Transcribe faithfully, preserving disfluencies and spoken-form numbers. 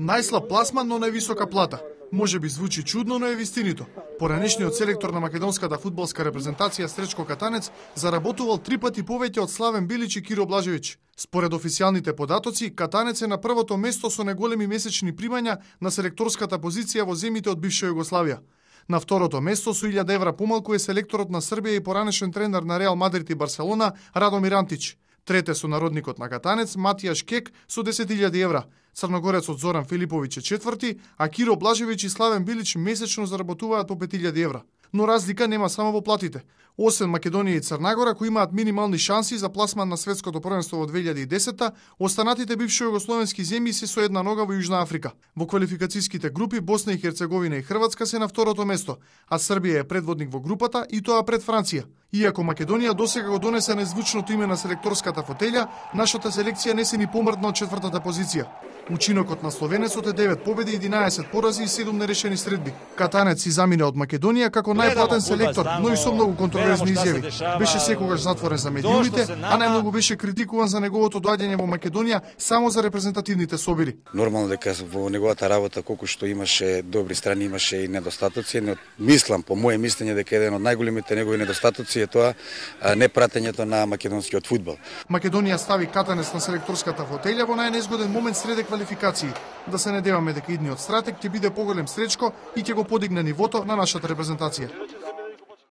Најслаб пласман, но највисока плата. Може би звучи чудно, но е вистинито. Поранешниот селектор на македонската фудбалска репрезентација Сречко Катанец заработувал три пати повеќе од Славен Билич и Киро Блажевич. Според официјалните податоци, Катанец е на првото место со најголеми месечни примања на селекторската позиција во земјите од бивша Југославија. На второто место со илјада евра помалку е селекторот на Србија и поранешен тренер на Реал Мадрид и Барселона Радомир Антич. Трете со народникот на Катанец Матијаш Кек со десет илјади евра. Црногорецот Зоран Филиповиќ е четврти, а Киро Блажевич и Славен Билич месечно заработуваат по пет илјади евра. Но разлика нема само во платите. Освен Македонија и Црнагора, кои имаат минимални шанси за пласман на светското првенство во две илјади и десета, останатите бивши југословенски земји се со една нога во Јужна Африка. Во квалификацијските групи Босна и Херцеговина и Хрватска се на второто место, а Србија е предводник во групата и тоа пред Франција. Иако Македонија досега го донесе незвучното име на селекторската фотелја, нашата селекција не се ни помрдна од четвртата позиција. Учинокот на словенецот е девет победи, единаесет порази и седум нерешени средби. Катанец си замина од Македонија како најплатен селектор, но и со многу контроверзни изјави. Беше секогаш затворен за медиумите, а најмногу беше критикуван за неговото доаѓање во Македонија само за репрезентативните собири. Нормално дека во неговата работа колку што имаше добри страни, имаше и недостатоци, но мислам по моје мислење дека еден од најголемите негови недостатоци е тоа непратењето на македонскиот фудбал. Македонија стави Катанец на селекторската фотелја во најнезгоден момент среде квалификации. Да се надеваме дека идниот стратег ќе биде поголем Сречко и ќе го подигне нивото на нашата репрезентација.